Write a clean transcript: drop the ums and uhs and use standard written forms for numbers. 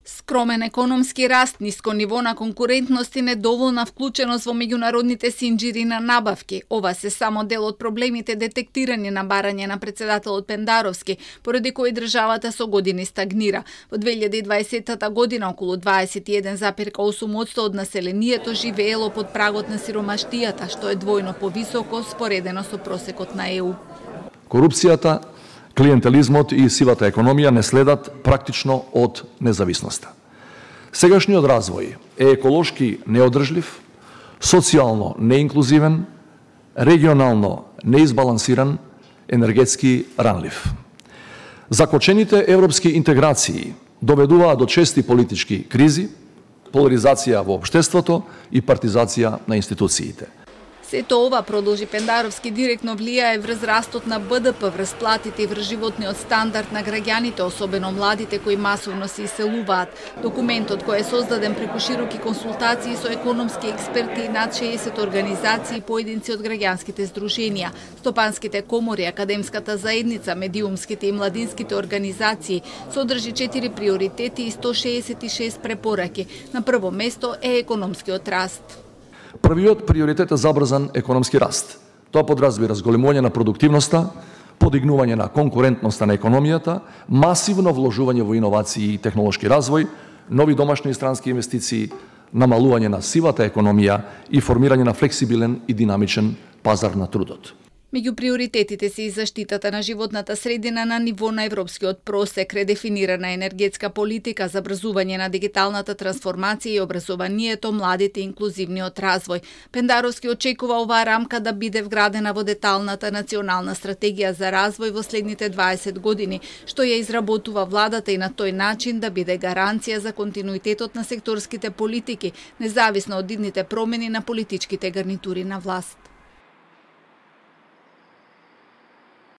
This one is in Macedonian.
Скромен економски раст, ниско ниво на конкурентност и недоволна вклученост во меѓународните синџири на набавки. Ова се само дел од проблемите детектирани на барање на председателот Пендаровски, поради кои државата со години стагнира. Во 2020 година околу 21,8% од населението живеело под прагот на сиромаштијата, што е двојно повисоко споредено со просекот на ЕУ. Корупцијата, клиентелизмот и сивата економија не следат практично од независноста. Сегашниот развој е еколошки неодржлив, социјално неинклузивен, регионално неизбалансиран, енергетски ранлив. Закочените европски интеграции доведуваа до чести политички кризи, поларизација во општеството и партизација на институциите. Сето ова, продолжи Пендаровски, директно влијае врз растот на БДП, врз платите и врз животниот стандард на граѓаните, особено младите кои масовно се иселуваат. Документот кој е создаден преку широки консултации со економски експерти и над 60 организации и поединци од граѓанските здруженија, стопанските комори, академската заедница, медиумските и младинските организации, содржи 4 приоритети и 166 препораки. На прво место е економскиот раст. Првиот приоритет е забрзан економски раст. Тоа подразбира зголемување на продуктивноста, подигнување на конкурентноста на економијата, масивно вложување во иновации и технолошки развој, нови домашни и странски инвестиции, намалување на сивата економија и формирање на флексибилен и динамичен пазар на трудот. Меѓу приоритетите се и заштитата на животната средина на ниво на европскиот просек, редефинирана енергетска политика, забрзување на дигиталната трансформација и образованието, младите и инклузивниот развој. Пендаровски очекува оваа рамка да биде вградена во деталната национална стратегија за развој во следните 20 години, што ја изработува владата и на тој начин да биде гаранција за континуитетот на секторските политики, независно од идните промени на политичките гарнитури на власт.